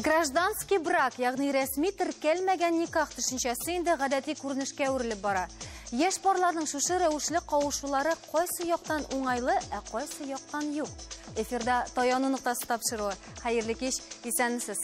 Гражданский брак, ягъни рәсми теркәлмәгән никах төшенчәсе инде гадәти күренешкә әверелеп бара. Яшь парларның шушы рәвешле кавышулары кайсы яктан уңайлы, ә кайсы яктан юк. Эфирда Таяну ноктасы тапшыруы. Хәерле кич, исәнмесез.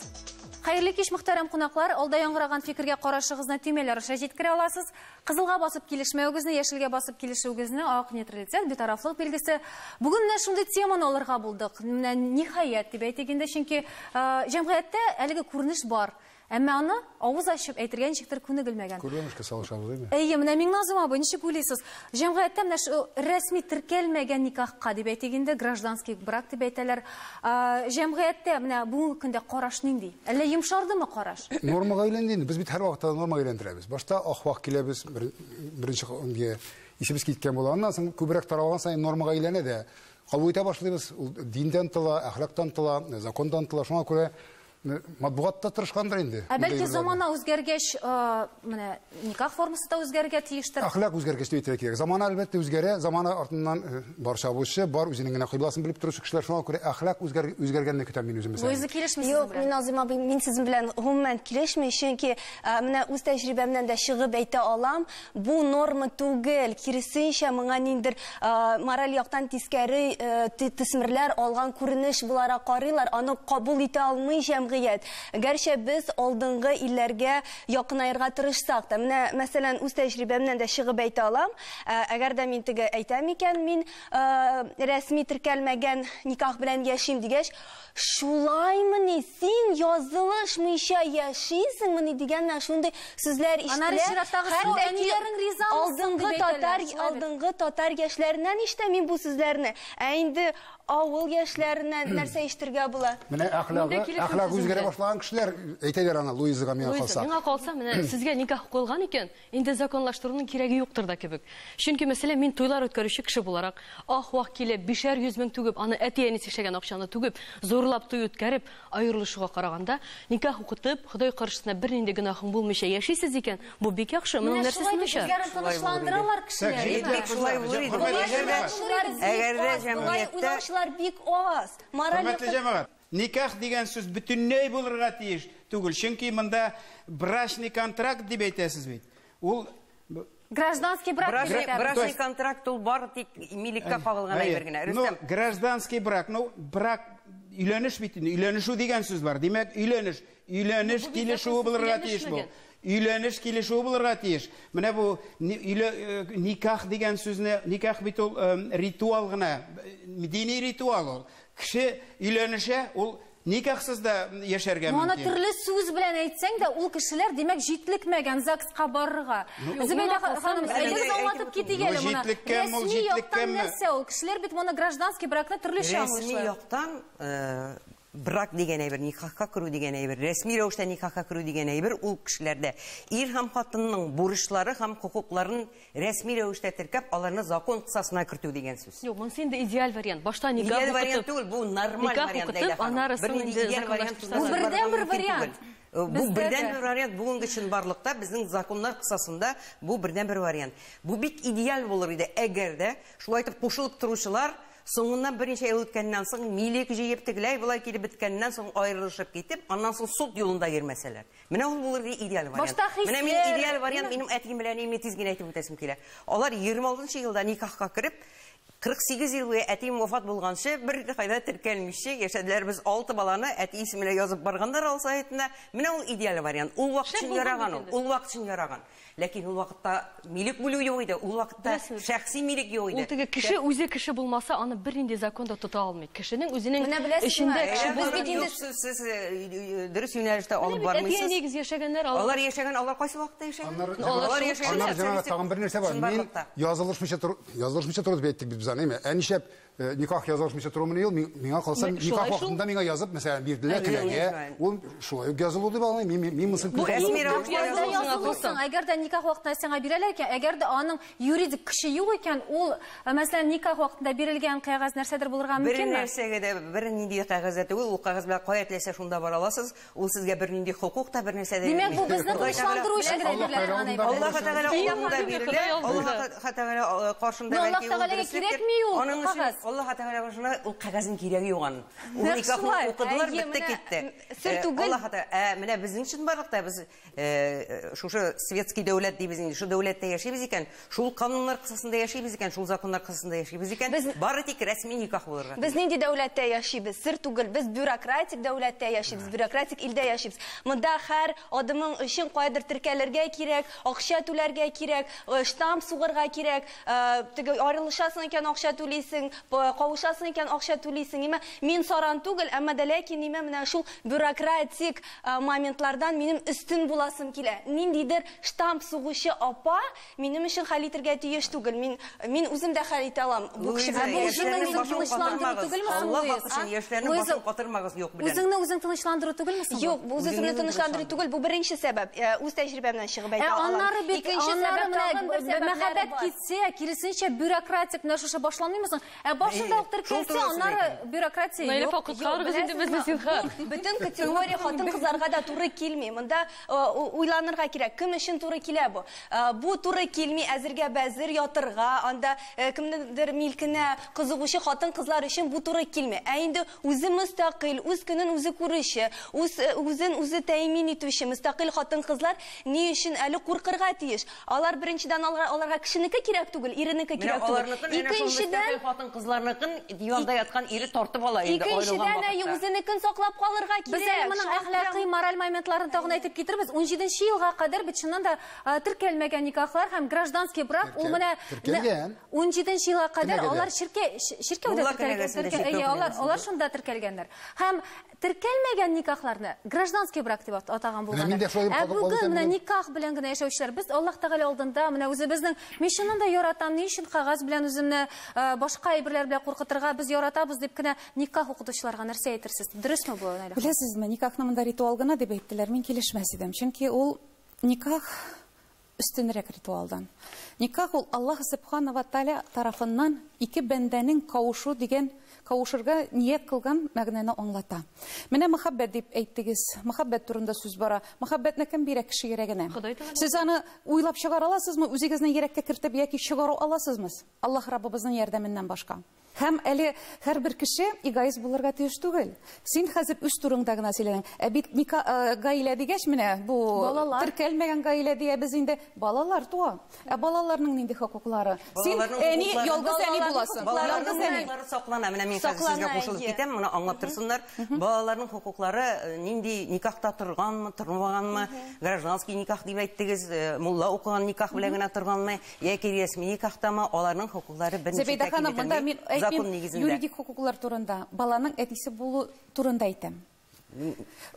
Хәерле кич, мөхтәрәм кунаклар. Алда яңгыраган фикергә карашыгызны төймәләр аша җиткерә аласыз. Кызылга басып килешмәвегезне, яшелгә басып килешүегезне, ак нейтралитет, битарафлык билгесе. Бүген менә шундый теманы алырга булдык. Менә ниһаять дип әйтик инде, чөнки җәмгыятьтә әлеге күренеш бар. Әмма аны авыз ачып әйтергә ничектер күнегелмәгән. Күрмәмешкә салышабыз, әйме? Әйе, менә Миңназым абый, ничек уйлыйсыз? Җәмгыятьтә менә шу рәсми теркәлмәгән никахка дип әйтик инде, гражданский брак дип әйтәләр. Җәмгыятьтә менә бүгенге көндә караш нинди? Әллә йомшардымы караш? Нормага әйләнде инде. Без бит һәрвакытта нормага әйләндерәбез. Башта ах-вах киләбез, беренче исебез киткән була. Аннан соң күбрәк таралган саен нормага әйләнә дә. Кабул итә башлыйбыз. Ул диндән тыла, әхлактан тыла, закондан тыла. Шуңа күрә матбугатта тырышкандыр инде. Ә бәлки замана үзгәргәч, менә никах формасы да үзгәрергә тиештер. Әхлак үзгәргәч дип әйтергә кирәк. Замана әлбәттә үзгәрә, замана артыннан бар чабучы, бар үзенең генә кыйбласын белеп торучы кешеләр. Шуңа күрә әхлак үзгәргәнне көтәм мин үзем. Луиза, килешмисезме? Юк, мин Назыйм абый, мин сезнең белән гомумән килешмим, чөнки менә үз тәҗрибәмнән дә чыгып әйтә алам, бу норма түгел, киресенчә моңа ниндер мораль яктан тискәре төсмерләр алган күренеш буларак карыйлар, аны кабул итә алмый җәмгыять. Гәрчә без алдынгы илләргә якынаерга тырышсак та, менә мәсәлән, үз тәҗрибәмнән дә чыгып әйтә алам, әгәр дә мин теге әйтәм икән, мин рәсми теркәлмәгән никах белән яшим дигәч, шулаймыни, син язылышмыйча яшисеңмени дигән менә шундый сүзләр ишетелә. Алдынгы татар яшьләреннән ишетәм мин бу сүзләрне. Ә инде авыл яшьләреннән нәрсә ишетергә була? Менә әхлак үзгәрә башлаган кешеләр әйтәләр аны Луизага, миңа калса. Миңа калса, менә сезгә никах куелган икән, инде законлаштыруның кирәге юктыр да кебек. Чөнки мәсәлән, мин туйлар үткәрүче кеше буларак, ах-вах килеп, 500 мең түгеп, аны әти-әнисе эшләгән акчаны түгеп, зурлап туй үткәреп, аерылышуга караганда, никах укытып, Ходай каршысында бернинди гөнаһың булмыйча яшисез икән, бу бик яхшы. Моның нәрсәсе начар? Тынычландыралар кешеләр. Бик шулай булыр иде. Әгәр дә җәмгыятьтә бик аз. Хөрмәтле җәмәгать, никах дигән сүз бөтенләй булырга тиеш түгел. Чөнки монда брачный контракт дип әйтәсез бит. Ул гражданский брак. Брачный контракт ул бары тик милеккә кагылган әйбер генә. Ну, гражданский брак, ну, брак өйләнеш бит инде. Өйләнешү дигән сүз бар. Димәк, өйләнеш, өйләнеш килешүе булырга тиеш бу. Өйләнеш килешүе булырга тиеш. Менә бу никах дигән сүзне, никах бит ул ритуал гына, дини ритуал ул. Кеше өйләнешә, ул никахсыз да яшәргә мөмкин. Моны төрле сүз белән әйтсәң дә, ул кешеләр, димәк, җитлекмәгән ЗАГСка барырга. Зөбәйдә ханым, әйдәгез аңлатып китик әле моны. Рәсми яктан нәрсә ул? Кешеләр бит моны гражданский бракны төрлечә аңлыйлар. Рәсми яктан брак дигән әйбер, никахка керү дигән әйбер, рәсми рәвештә никахка керү дигән әйбер ул кешеләрдә ир һәм хатынның бурычлары һәм хокукларын рәсми рәвештә теркәп, аларны закон кысасына кертү дигән сүз. Юк, монысы инде идеаль вариант. Башта никах укытып, идеаль вариант түгел, бу нормаль вариант. Бу бердәнбер вариант. Бу бердәнбер вариант бүгенге чынбарлыкта безнең законнар кысасында бу бердәнбер вариант. Бу бик идеаль булыр иде, әгәр дә шулай итеп кушылып торучылар соңыннан берничә ел үткәннән соң милек җыеп тегеләй болай килеп беткәннән соң аерылышып китеп, аннан соң суд юлында йөрмәсәләр. Менә ул булыр иде идеаль вариант. Менә мин идеаль вариант, минем әтием белән әниемне тиз генә әйтеп үтәсем килә. Алар 26 елда никахка кереп, 48 ел буе әтием вафат булганчы бер кайда теркәлмичә яшәделәр. Без 6 баланы әти исеменә язып барганнар ал сайтына. Менә ул идеаль вариант. Ул вакыт өчен яраган ул. Ул вакыт өчен яраган. Ләкин ул вакытта милек бүлү юк иде, ул вакытта шәхси милек юк иде. Ул теге кеше үзе кеше булмаса, аны бернинди закон да тота алмый. Кешенең үзенең эчендә кеше булса, бит инде сез дөрес юнәлештә алып бармыйсыз. Әти-әнигез яшәгәннәр, алар яшәгән, алар кайсы вакытта яшәгән? Алар яшәгән. Тагын бер нәрсә бар. Мин язылышмыйча тору, язылышмыйча тору дип әйттек без аны, әйме? Ә нишләп никах язылышмыйча тору ел, миңа калса, никах вакытында миңа язып, мәсәлән, бирделәр теләгә, ул шулай ук язылу дип аңлыйм. Мин монысын күрәм. Әгәр дә никах вакытында сиңа бирәләр икән, әгәр дә аның юридик көче юк икән, ул, мәсәлән, никах вакытында бирелгән кәгазь нәрсәдер булырга мөмкинме? Бер нәрсәгә дә, бер нинди кәгазь дә түгел, ул кәгазь белән кая теләсә шунда бара аласыз, ул сезгә бер нинди хокук та, бер нәрсә дә. Димәк, бу безне тынычландыру өчен генә бирелә торган әйбер. Аллаһ Тәгалә алдында бирелә, Аллаһ Тәгалә каршында бәлки ул дөреслеккә кирәкми ул кәгазь. Аллаһ Тәгалә каршында ул кәгазьнең кирәге юк аның. Ул никахны укыдылар, бетте китте. Сер түгел. Аллаһ Тәгалә, менә безнең чынбарлыкта без шушы светский дәүләт дибез инде, шул дәүләттә яшибез икән, шул кануннар кысасында яшибез икән, шул законнар кысасында яшибез икән, бары тик рәсми никах булырга. Без нинди дәүләттә яшибез? Сер түгел, без бюрократик дәүләттә яшибез, бюрократик илдә яшибез. Монда һәр адымың өчен кайдыр теркәлергә кирәк, акча түләргә кирәк, штамп сугарга кирәк, теге арылышасың икән акча түлисең, кавышасың икән акча түлисең. Ниме мин саран түгел, әмма дә ләкин ниме менә шул бюрократик моментлардан минем өстен буласым килә. Ниндидер штамп сугучы апа минем өчен хәл итәргә тиеш түгел. Мин үзем дә хәл итә алам. Бу кешегә бу үзеңне үзең тынычландыру түгелме соң, Луиза? Яшьләрне башын катырмагыз юк белән. Үзеңне үзең тынычландыру түгелме соң? Юк, бу үзеңне тынычландыру түгел, бу беренче сәбәп. Үз тәҗрибәмнән чыгып әйтә алам. Аннары бит, аннары менә мәхәббәт китсә, киресенчә бюрократик менә шушы башланмыймы соң? Ә башында ук теркәлсә, аннары бюрократия юк. Наилә апа, коткарыгыз инде безне зинһар. Бөтен категория хатын-кызларга да туры килми. Монда уйланырга кирәк, кем өчен туры килә бу? Бу туры килми әзергә бәзер ятырга, анда кемнеңдер милкенә кызыгучы хатын-кызлар өчен бу туры килми. Ә инде үзе мөстәкыйль, үз көнен үзе күрүче, үзен үзе тәэмин итүче мөстәкыйль хатын-кызлар ни өчен әле куркырга тиеш? Алар беренчедән аларга кешенеке кирәк түгел, иренеке кирәк түгел. Икенчедән хатын-кызларныкын диванда яткан ире тартып ала инде. Икенчедән үзенекен саклап калырга кирәк. Без әле моның әхлакый мораль моментларын тагын әйтеп китербез. 17 елга кадәр бит чыннан да теркәлмәгән никахлар һәм гражданский брак ул менә 17 елга кадәр алар чиркәүдә теркәлгән. Алар шунда теркәлгәннәр. Һәм теркәлмәгән никахларны гражданский брак дип атаган булганнар. Ә бүген менә никах белән генә яшәүчеләр без Аллаһ Тәгалә алдында менә үзебезнең мин чыннан да яратам, ни өчен кәгазь белән үземне башка әйберләр белән куркытырга, без яратабыз дип кенә никах укытучыларга нәрсә әйтерсез? Дөресме бу, Наилә? Беләсезме, никахны монда ритуал гына дип әйттеләр, мин килешмәс идем. Чөнки ул никах өстенрәк ритуалдан. Никах ул Аллаһ Субхана ва Тааля тарафыннан ике бәндәнең кавышу дигән, кавышырга ният кылган мәгънәне аңлата. Менә мәхәббәт дип әйттегез. Мәхәббәт турында сүз бара. Мәхәббәтне кем бирә? Кеше йөрәгенә. Сез аны уйлап чыгара аласызмы? Үзегезнең йөрәккә кертеп яки чыгару аласызмы? Аллаһ Раббыбызның ярдәменнән башка. Һәм әле һәрбер кеше эгоист булырга тиеш түгел. Син хәзер үз турыңда гына сөйләнең. Ә бит гаилә дигәч менә бу теркәлмәгән гаилә диябез инде, балалар туа. Ә балаларның нинди хокуклары? Син әни ялгыз әни буласың. Балаларның хокуклары саклана. Менә мин хәзер сезгә кушылып китәм, моны аңлап торсыннар. Балаларның хокуклары нинди никахта торганмы, тормаганмы, гражданский никах дип әйттегез, мулла укыган никах белән генә торганмы, яки рәсми никахтамы, аларның хокуклары берничә тәкъдим. Юридик хокуклар турында, баланың әтисе булу турында әйтәм.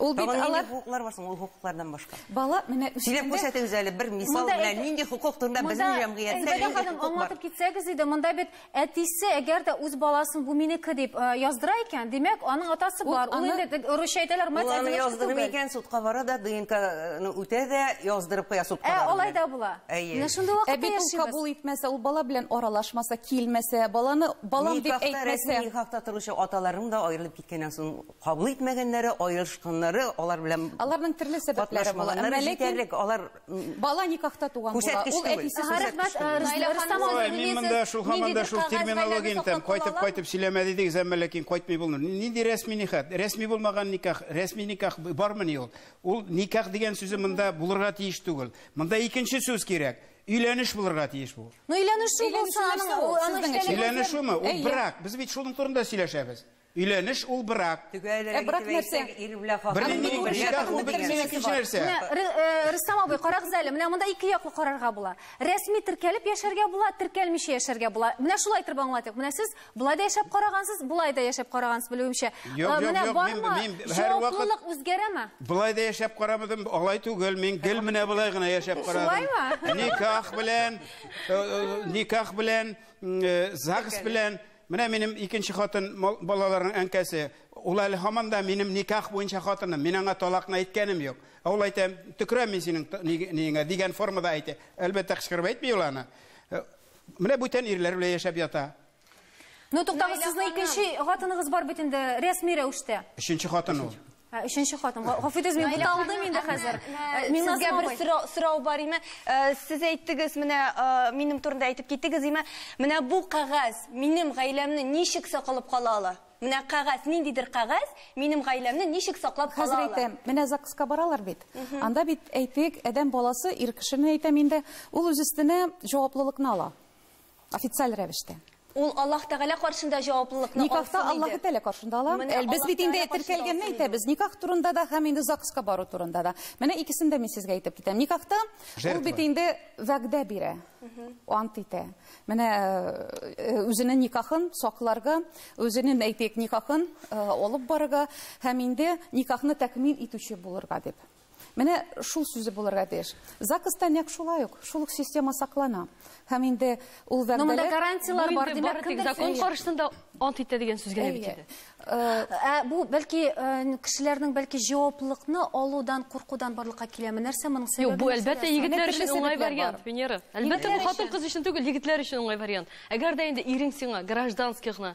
Ул бит алар хокуклар бар соң, ул хокуклардан башка. Бала менә сөйләп күрсәтегез әле бер мисал белән нинди хокук турында безнең җәмгыятьтә. Зөбәйдә ханым, аңлатып китсәгез иде, монда бит әтисе әгәр дә үз баласын бу минеке дип яздыра икән, димәк, аның атасы бар. Ул инде русча әйтәләр, мать аны яздырмый икән, судка бара да, ДНК-ны үтә дә, яздырып куя судка. Ә алай да була. Менә шундый вакытта яшибез. Ә бит ул кабул итмәсә, ул бала белән аралашмаса, килмәсә, баланы балам дип әйтмәсә, никахта торучы аталарның да аерылып киткәннән соң кабул итмәгәннәре, аерылышканнары, алар белән аларның төрле сәбәпләре була. Әмма ләкин алар бала никахта туган була. Ул әтисе. Мин монда шул һаман да шул терминологияне әйтәм. Кайтып-кайтып сөйләмә дидегез, әмма ләкин кайтмый булмый. Нинди рәсми никах? Рәсми булмаган никах, рәсми никах бармыни ул? Ул никах дигән сүзе монда булырга тиеш түгел. Монда икенче сүз кирәк. Өйләнеш булырга тиеш бу. Ну, өйләнешү булса, аның өйләнешүме? Ул брак. Без бит шуның турында сөйләшәбез. Өйләнеш ул брак. Ә брак нәрсә? Рөстәм абый, карагыз әле, менә монда ике яклы карарга була. Рәсми теркәлеп яшәргә була, теркәлмичә яшәргә була. Менә шулай итеп аңлатыйк. Менә сез болай да яшәп карагансыз, болай да яшәп карагансыз, белүемчә. Менә бармы? Җаваплылык үзгәрәме? Болай да яшәп карамадым, алай түгел. Мин гел менә болай гына яшәп карадым. Никах белән, никах белән, ЗАГС белән. Менә минем икенче хатын балаларның әнкәсе, ул әле һаман да минем никах буенча хатыным, мин аңа талакны әйткәнем юк. Ә ул әйтә, төкерәм мин синең ниеңә дигән формада әйтә. Әлбәттә, кычкырып әйтми ул аны. Менә бүтән ирләр белән яшәп ята. Ну, туктагыз, сезнең икенче хатыныгыз бар бит инде рәсми рәвештә. Өченче хатын ул. Өченче хатын. Гафу итегез, мин буталдым инде хәзер. Сезгә бер сорау бар име? Сез әйттегез, менә минем турында әйтеп киттегез име? Менә бу кәгазь минем гаиләмне ничек саклап кала ала? Менә кәгазь, ниндидер кәгазь минем гаиләмне ничек саклап кала ала? Хәзер әйтәм, менә ЗАГСка баралар бит. Анда бит әйтик, адәм баласы, ир кешене әйтәм инде, ул үз өстенә җаваплылыкны ала. Официаль рәвештә. Ул Аллаһ Тәгалә каршында җаваплылыкны алсын. Никахта Аллаһ Тәгалә каршында ала. Без бит инде теркәлгәнне әйтәбез. Никах турында да һәм инде ЗАГСка бару турында да. Менә икесен дә мин сезгә әйтеп китәм. Никахта ул бит инде вәгъдә бирә, ант итә. Менә үзенең никахын сакларга, үзенең әйтик никахын алып барырга һәм инде никахны тәкмил итүче булырга дип. Менә шул сүзе булырга тиеш. ЗАГСта нәкъ шулай ук, шул ук система саклана. Һәм инде ул вәгъдәләр... Но монда гарантиялар бар, димәк, кемдер закон каршысында ант итә дигән сүз генә бит инде. Бу бәлки кешеләрнең бәлки җаваплылыкны алудан, куркудан барлыкка киләме? Нәрсә моның сәбәбе? Юк, бу әлбәттә егетләр өчен уңай вариант, Венера. Әлбәттә бу хатын-кыз өчен түгел, егетләр өчен уңай вариант. Әгәр дә инде ирең сиңа гражданский гына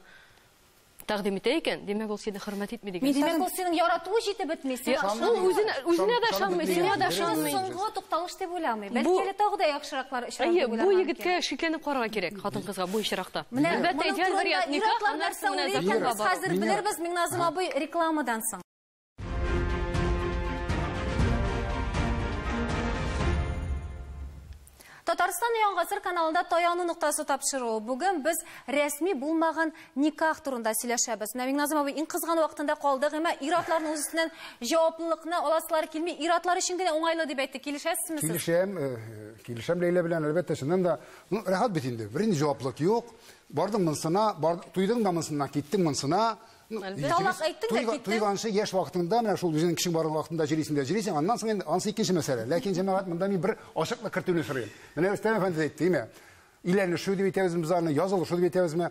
тәкъдим итә икән, димәк ул сине хөрмәт итми дигән. Димәк ул синең яратуы җитеп бетми. Ул үзенә дә ышанмый, сиңа да ышанмый. Соңгы тукталыш дип уйламый. Бәлки әле тагы да яхшыраклар очрар дип уйламый. Бу егеткә шикләнеп карарга кирәк, хатын-кызга бу очракта. Әлбәттә, идеаль вариант никах, аннан соң менә законга бару. Хәзер белербез, Миңназым абый, рекламадан соң. Татарстан Яңа Гасыр каналында таяну ноктасы тапшыруы. Бүген без рәсми булмаган никах турында сөйләшәбез. Менә Миңназым абый иң кызган вакытында калдык, әмма ир-атларның үз өстеннән җаваплылыкны аласылары килми, ир-атлар өчен генә уңайлы дип әйтте. Килешәсезме сез? Килешәм, килешәм Ләйлә белән, әлбәттә, чыннан да, ну, рәхәт бит инде. Бернинди җаваплылык юк. Бардың монсына, туйдың да монсына, киттең монсына. Талак әйттең дә киттең. Туйганчы яшь вакытыңда, менә шул үзеңнең кешең бар вакытында җөрисең дә җөрисең, аннан соң инде ансы икенче мәсьәлә. Ләкин җәмәгать монда мин бер ачыклык кертүне сорыйм. Менә Рөстәм әфәнде әйтте, димә. Өйләнешү дип әйтәбезме без аны, язылышу дип әйтәбезме?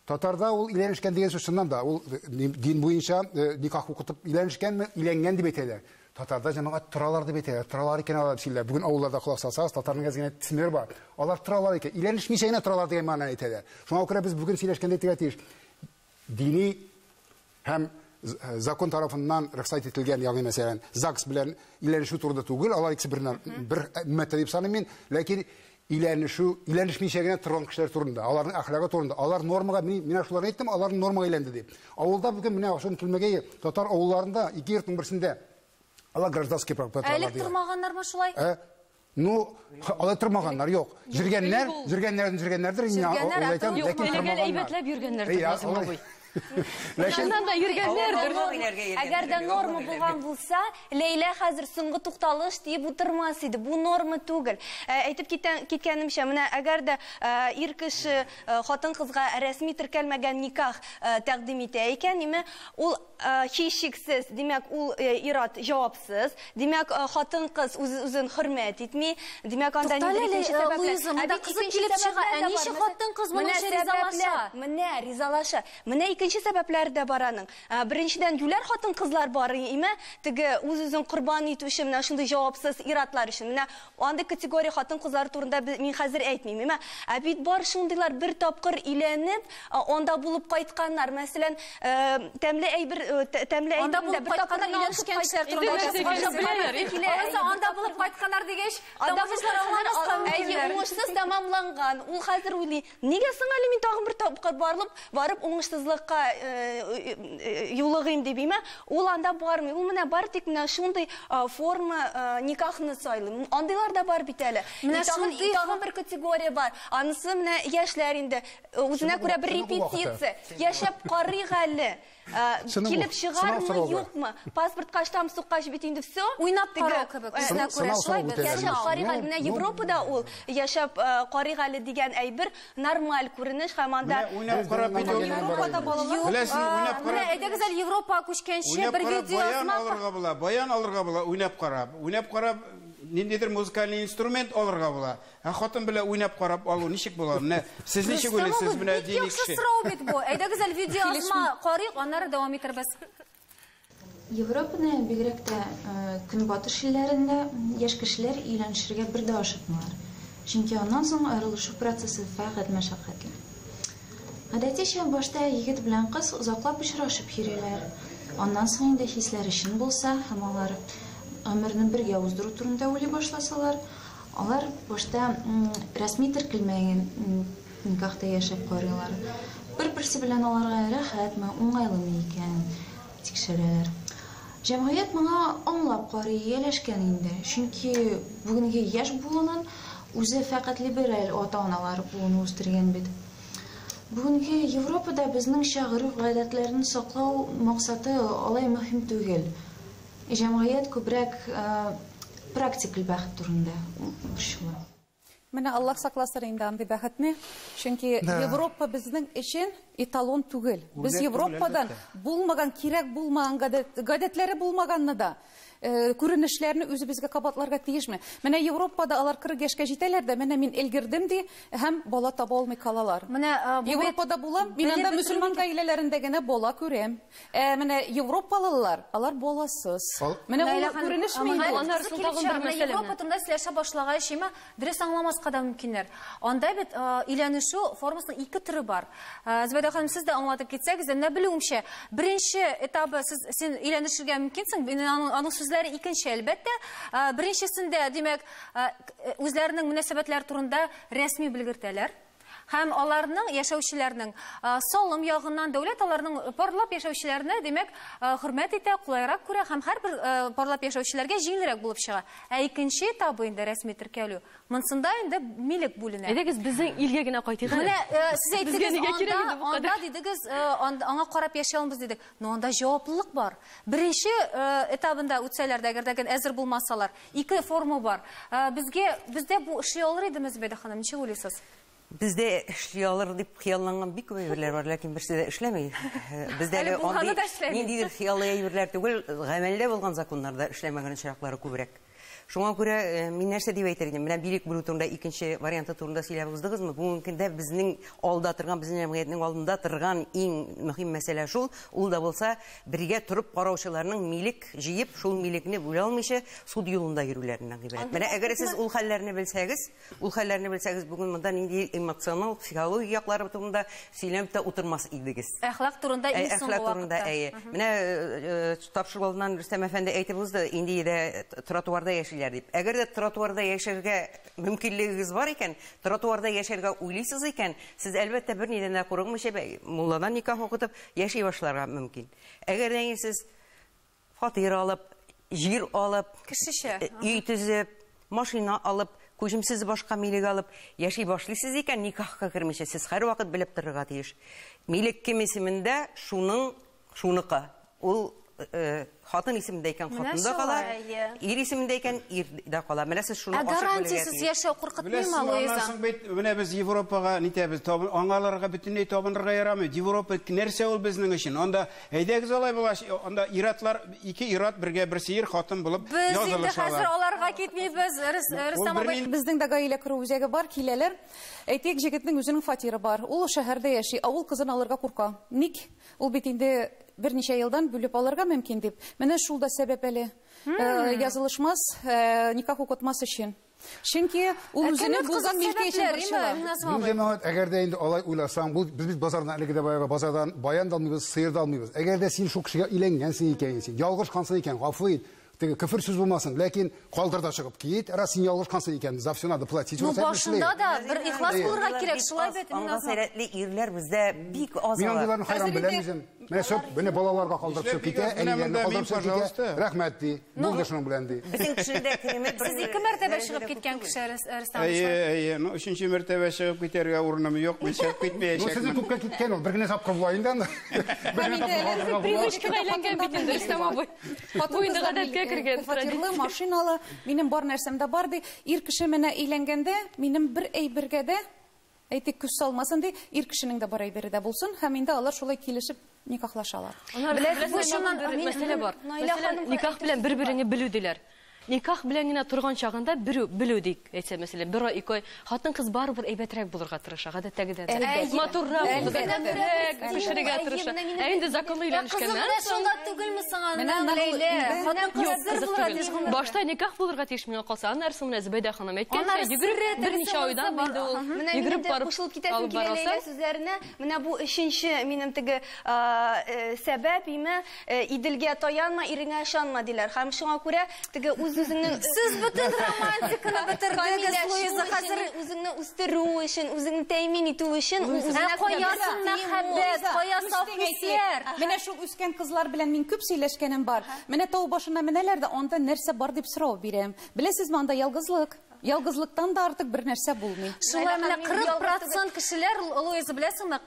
Татарда ул өйләнешкән дигән сүз чыннан да, ул дин буенча никах укытып өйләнешкәнме, өйләнгән дип әйтәләр. Татарда җәмәгать торалар дип әйтәләр. Торалар икән алар дип сөйлиләр. Бүген авылларда колак салсагыз, татарның әз генә төсмере бар. Алар торалар икән, өйләнешмичә генә торалар дигән мәгънәне әйтәләр. Шуңа күрә без бүген сөйләшкәндә әйтергә тиеш. Дини һәм закон тарафыннан рөхсәт ителгән, ягъни мәсәлән, ЗАГС белән өйләнешү турында түгел, алар икесе бер өммәттә дип саныйм мин, ләкин өйләнешү, өйләнешмичә генә торган кешеләр турында, аларның әхлагы турында, алар нормага, мин менә шуларны әйттем, алар нормага әйләнде дип. Авылда бүген менә шуны килмәгәе татар авылларында ике йортның берсендә алар гражданский брак белән торалар. Әлек тормаганнармы шулай? Ну, алай тормаганнар, юк. Жүргәннәр, жүргәннәрдән жүргәннәрдер, мин алай әйтәм, ләкин тормаганнар. Әйбәтләп йөргәннәрдер, Назым абый. Чыннан да йөргәннәрдер. Әгәр дә норма булган булса, Ләйлә хәзер соңгы тукталыш диеп утырмас иде. Бу норма түгел. Әйтеп киткәнемчә, менә әгәр дә ир кеше хатын-кызга рәсми теркәлмәгән никах тәкъдим итә икән, име, ул һичшиксез, димәк, ул ир-ат җавапсыз, димәк, хатын-кыз үз-үзен хөрмәт итми, димәк, анда ниндидер икенче сәбәпләр. Луиза, монда кызык килеп чыга, ә ничек хатын-кыз моның өчен ризалаша? Менә ризалаша. Менә икенче сәбәпләр дә бар аның. Беренчедән, юләр хатын-кызлар бар, име, теге үз-үзен корбан итүче менә шундый җавапсыз ир-атлар өчен. Менә андый категория хатын-кызлар турында мин хәзер әйтмим, име. Ә бит бар шундыйлар бер тапкыр өйләнеп, анда булып кайтканнар. Мәсәлән, тәмле әйбер, тәмле Анда булып кайтканнар өйләнешкән кешеләр турында әйтәсез. Анда булып кайтканнар дигәч, тамашачылар аңламаска мөмкиннәр. Уңышсыз тәмамланган. Ул хәзер уйлый, нигә соң әле мин тагын бер тапкыр барып уңышсызлыкка юлыгыйм дип, име? Ул анда бармый. Ул менә бар тик менә шундый форма никахны сайлый. Андыйлар да бар бит әле. Тагын бер категория бар. Анысы менә яшьләр инде. Үзенә күрә бер репетиция. Яшәп карыйк әле. Килеп чыгармы, юкмы? Паспортка штамп суккач бит инде все. Уйнап карау кебек. Үзенә күрә шулай бит. Яшәп карыйк әле. Менә Европада ул яшәп карыйк әле дигән әйбер нормаль күренеш һәм анда уйнап карап бит ул. Европада балалар. Беләсең, уйнап карап. Менә әйдәгез әле Европага күчкәнче бер видео баян алырга була, баян алырга була, уйнап карап. Уйнап карап ниндидер музыкальный инструмент алырга була. Ә хатын белән уйнап карап алу ничек була? Менә сез ничек уйлыйсыз, менә дини кеше. Яхшы сорау бит бу. Әйдәгез әле видео язма карыйк, аннары дәвам итәрбез. Европада, бигрәк тә көнбатыш илләрендә яшь кешеләр өйләнешергә бер дә ашыкмыйлар. Чөнки аннан соң аерылышу процессы фәкать мәшәкатьле. Гадәтичә башта егет белән кыз озаклап очрашып йөриләр. Аннан соң инде хисләре чын булса һәм алар гомерне бергә уздыру турында уйлый башласалар, алар башта рәсми теркелмәгән никахта яшәп карыйлар. Бер-берсе белән аларга рәхәтме, уңайлымы икәнен тикшерәләр. Җәмгыять моңа аңлап карый, ияләшкән инде. Чөнки бүгенге яшь буынын үзе фәкать либераль ата-аналар буыны үстергән бит. Бүгенге Европада безнеңчә гореф-гадәтләрне саклау максаты алай мөһим түгел. Җәмгыять күбрәк практик бәхет турында борчыла. Менә Аллаһ сакласын инде андый бәхетне, чөнки Европа безнең өчен эталон түгел. Без Европадан булмаган, кирәк булмаган гадәтләре булмаганны да күренешләрне үзебезгә кабатларга тиешме? Менә Европада алар 40 яшькә җитәләр дә, менә мин өлгердем ди, һәм бала таба алмый калалар. Менә Европада булам, мин анда мөселман гаиләләрендә генә бала күрәм. Менә европалылар, алар баласыз. Менә ул күренешме инде? Аннары соң тагын бер мәсьәлә. Европа турында сөйләшә башлагач, имә дөрес аңламаска да мөмкиннәр. Анда бит өйләнешү формасының ике төре бар. Зөбәйдә ханым, сез дә аңлатып китсәгез, менә белүемчә, беренче этабы сез син өйләнешергә мөмкинсең, аның сүзләре икенче, әлбәттә. Беренчесендә, димәк, үзләренең мөнәсәбәтләре турында рәсми белгертәләр. Һәм аларның яшәүчеләрнең салым ягыннан дәүләт аларның парлап яшәүчеләрне, димәк, хөрмәт итә, кулайрак күрә һәм һәрбер парлап яшәүчеләргә җиңелрәк булып чыга. Ә икенче этабы инде рәсми теркәлү. Монсында инде милек бүленә. Әйдәгез, безнең илгә генә кайтыйк әле. Менә сез әйттегез, анда дидегез, аңа карап яшәй алмыйбыз дидек. Но анда җаваплылык бар. Беренче этабында үтсәләр дә, әгәр дә әзер булмасалар, ике форма бар. Безгә, бездә бу эшли алыр идеме, Зөбәйдә ханым, ничек уйлыйсыз? Бездә эшли алыр дип хыялланган бик күп әйберләр бар, ләкин берсе дә эшләми. Бездә әле андый ниндидер хыяллы әйберләр түгел, гамәлдә булган законнарда эшләмәгән очраклары күбрәк. Шуңа күрә мин нәрсә дип әйтер идем? Менә билек бүлү турында икенче варианты турында сөйләп уздыгызмы? Бүгенге көндә безнең алда торган, безнең җәмгыятьнең алдында торган иң мөһим мәсьәлә шул, ул да булса бергә торып караучыларның милек җыеп, шул милекне бүлә алмыйча суд юлында йөрүләреннән гыйбарәт. Менә әгәр сез ул хәлләрне белсәгез, ул хәлләрне белсәгез, бүген монда нинди эмоционал, психологик яклары турында сөйләнеп тә утырмас идегез. Әхлак турында иң соңгы вакытта. Менә тапшыру алдыннан Рөстәм әфәнде әйтеп узды, инде дә тротуарда яшиләр дип. Әгәр дә тротуарда яшәргә мөмкинлегегез бар икән, тротуарда яшәргә уйлыйсыз икән, сез әлбәттә бернидән дә курыкмыйча мулладан никах укытып яши башларга мөмкин. Әгәр дә сез фатир алып, җир алып, кешечә өй төзеп, машина алып, күчемсез башка милек алып яши башлыйсыз икән, никахка кермичә сез һәрвакыт белеп торырга тиеш. Милек кем исемендә, шуның шуныкы. Ул хатын исемендә икән, хатында кала, ир исемендә икән, ирдә кала. Менә сез шуны ачык белергә тиеш. Ә гарантиясез яшәү куркытмыймы, Луиза? Аннан соң бит менә без Европага нитәбез, аңаларга бөтенләй табынырга ярамый. Европа нәрсә ул безнең өчен? Анда әйдәгез алай булгач, анда иратлар, ике ират бергә берсе ир хатын булып язылышалар. Без инде хәзер аларга китмибез, Рөстәм абый. Безнең дә гаилә кору үзәге бар, киләләр. Әйтик, җегетнең үзенең фатиры бар. Ул шәһәрдә яши, авыл кызын алырга курка. Ник? Ул бит инде берничә елдан бүлеп алырга мөмкин дип. Менә шул да сәбәп әле. Язылышмас, никах укытмас өчен. Чөнки ул үзенең булган милке өчен борчыла. Бу җәмәгать, әгәр дә инде алай уйласаң, бу без бит базардан әлеге дә баягы базардан баян да алмыйбыз, сыер да алмыйбыз. Әгәр дә син шул кешегә өйләнгәнсең икән, син ялгышкансың икән, гафу ит. Теге көфер сүз булмасын, ләкин калдыр да чыгып кит, раз син ялгышкансың икән, за все надо платить. Ну башында да бер ихлас булырга кирәк, шулай бит. Аңа сәләтле ирләр бездә бик аз. Мин андыйларны хайран беләм үзем. Менә сөп, менә балаларга калдырып чыгып китә, әниләрне калдырып чыгып китә. Рәхмәт ди, булды шуның белән ди. Безнең кешедә кереме Сез ике мәртәбә чыгып киткән кеше, Рөстәм. Әйе, әйе, ну өченче мәртәбә чыгып китәргә урыным юк, мин чыгып китмәячәкмен. Ну сезнең күпкә киткән ул, бер генә тапкыр була инде анда. Привычкага әйләнгән бит инде, Рөстәм абый. Бу инде гадәткә кергән. Фатирлы, машиналы, минем бар нәрсәм дә бар ди. Ир кеше менә өйләнгәндә, минем бер әйбергә дә әйтик күз салмасын ди, ир кешенең дә бар әйбере дә булсын, һәм инде алар шулай килешеп никахлашалар. Беләсез, бу чыннан бер мәсьәлә бар. Мәсәлән, никах белән бер-береңне белү диләр. Никах белән генә торган чагында белү дик, әйтсә, мәсәлән, бер ай, ике ай хатын-кыз барыбер әйбәтрәк булырга тырыша, гадәттәгедән дә. Матуррак булырга, тәмлерәк пешерергә тырыша. Ә инде законлы өйләнешкәннән соң. Шунда түгелме соң аның, Ләйлә? Хатын-кыз әзер булырга тиеш гомергә. Башта никах булырга тиеш миңа калса, аннары соң менә Зөбәйдә ханым әйткәнчә, йөгереп берничә айдан инде ул йөгереп барып кушылып китәсем килә Ләйлә сүзләренә. Менә бу өченче минем теге сәбәп име, Иделгә таянма, иреңә ышанма диләр. Һәм шуңа күрә теге үз-үзеңнең Сез бөтен романтиканы бетердегез, Луиза, хәзер үзеңне үстерү өчен, үзеңне тәэмин итү өчен үзеңә каясын мәхәббәт, кая саф хисләр. Менә шул үскән кызлар белән мин күп сөйләшкәнем бар. Менә тау башына менәләр дә, анда нәрсә бар дип сорау бирәм. Беләсезме, анда ялгызлык. Ялгызлыктан да артык бер нәрсә булмый. Шулай менә 40% кешеләр, Луиза, беләсеңме,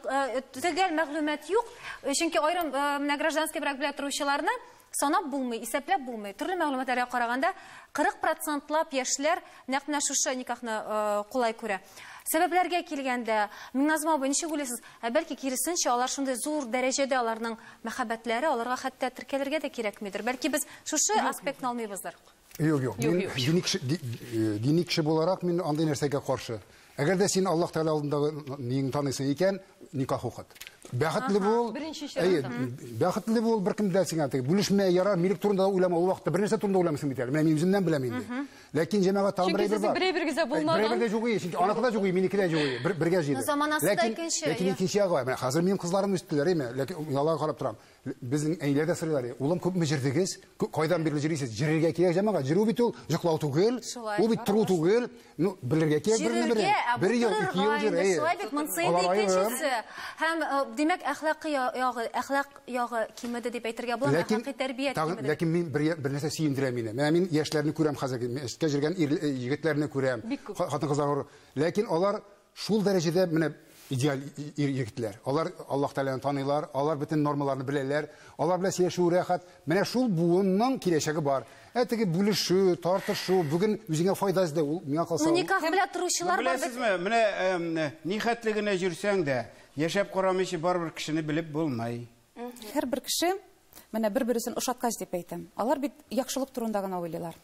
төгәл мәгълүмат юк, чөнки аерым менә гражданский брак белән торучыларны санап булмый, исәпләп булмый. Төрле мәгълүматларга караганда 40%лап яшьләр нәкъ менә шушы никахны кулай күрә. Сәбәпләргә килгәндә, Миңназым абый, ничек уйлыйсыз? Ә бәлки киресенчә, алар шундый зур дәрәҗәдә аларның мәхәббәтләре, аларга хәтта теркәлергә дә кирәкмидер. Бәлки без шушы аспектны алмыйбыздыр. Юк, юк. Мин дини кеше буларак мин андый нәрсәгә каршы. Әгәр дә син Аллаһ Тәгалә алдындагы ниңне таныйсың икән, никах укыт. Бәхетле бул. Әйе, бәхетле бул, беркем дә сиңа теге бүлешмә, ярар, милек турында уйлама, ул вакытта бер нәрсә турында уйламыйсың бит әле. Менә мин үземнән беләм инде. Ләкин җәмәгать тагын бер әйбер бар. Чөнки бер әйбергез дә булмаган. Бер әйбер дә юк, чөнки аныкы да юк, минеке дә юк, бергә җыйды. Заманасы да икенче. Ләкин икенче ягы, менә хәзер минем кызларым үстеләр, әйме, ләкин мин аларга карап торам. Безнең әниләр дә сорыйлар, улым, күпме җырдыгыз? Кайдан бирле җырыйсыз? Җырырга кирәк җәмәгать. Җыру бит ул йоклау түгел, ул бит тору түгел. Ну, белергә кирәк берне бере. Бер ел, ике ел җыр, әйе. Шулай бит, монысы инде икенчесе. Һәм, димәк, әхлакый ягы, әхлак ягы кимеде дип әйтергә була, әхлакый тәрбия кимеде. Ләкин мин бер нәрсә сөендерә мине. Менә мин яшьләрне күрәм хәзер, мәчеткә йөргән егетләрне күрәм, хатын-кызлар. Ләкин алар шул дәрәҗәдә менә идеаль егетләр. Алар Аллаһ Тәгаләне таныйлар, алар бөтен нормаларны беләләр, алар белән сөйләшү рәхәт. Менә шул буынның киләчәге бар. Ә теге бүлешү, тартышу, бүген үзеңә файда эзләү, ул миңа калса. Ну, никах белән торучылар бар. Беләсезме, менә ни хәтле генә йөрсәң дә, яшәп карамыйча барыбер кешене белеп булмый. Һәрбер кеше менә бер-берсен ошаткач дип әйтәм. Алар бит яхшылык турында гына уйлыйлар.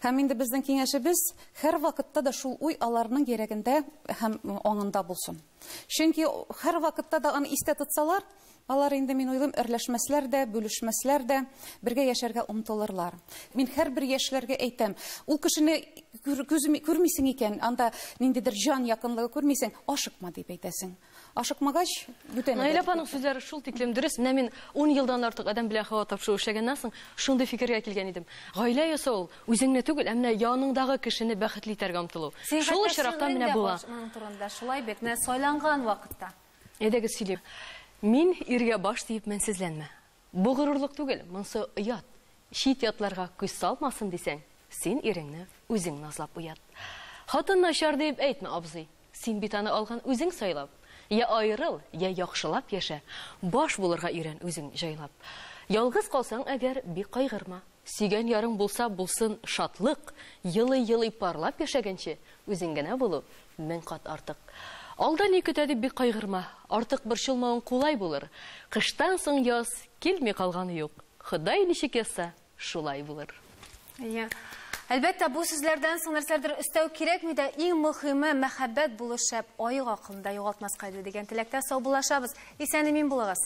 Һәм инде безнең киңәшебез һәр вакытта да шул уй аларның йөрәгендә һәм аңында булсын. Чөнки һәр вакытта да аны истә тотсалар, алар инде мин уйлыйм, әрләшмәсләр дә, бүлешмәсләр дә, бергә яшәргә омтылырлар. Мин һәрбер яшьләргә әйтәм, ул кешене күрмисең икән, анда ниндидер җан якынлыгы күрмисең, ашыкма дип әйтәсең. Ашыкмагач, бүтән. Наилә апаның сүзләре шул тиклем дөрес. Менә мин 10 елдан артык адәм белән һава тапшыру эшләгәннән соң шундый фикергә килгән идем. Гаилә ясау ул үзеңне түгел, ә менә яныңдагы кешене бәхетле итәргә омтылу. Шул очракта менә була. Моның турында шулай бит, менә сайланган вакытта. Әйдәгез сөйлим. Мин иргә баш диеп мәнсезләнмә. Бу горурлык түгел, монсы оят. Чит ятларга күз салмасын дисәң, син иреңне үзең назлап уят. Хатын начар дип әйтмә, абзый. Син бит аны алган үзең сайлап. Я айырыл, я яхшылап яшә. Баш булырга өйрән үзең җайлап. Ялгыз калсаң әгәр, бик кайгырма. Сөйгән ярың булса булсын шатлык, елый-елый парлап яшәгәнче, үзең генә булу мең кат артык. Алда ни көтә дип бик кайгырма. Артык борчылмавың кулай булыр. Кыштан соң яз килми калганы юк. Ходай ничек язса, шулай булыр. Иә. Әлбәттә, бу сүзләрдән соң нәрсәләрдер өстәү кирәкми дә, иң мөһиме мәхәббәт булу шәп, аек акылны да югалтмаска иде дигән теләктә саубуллашабыз. Исән-имин булыгыз.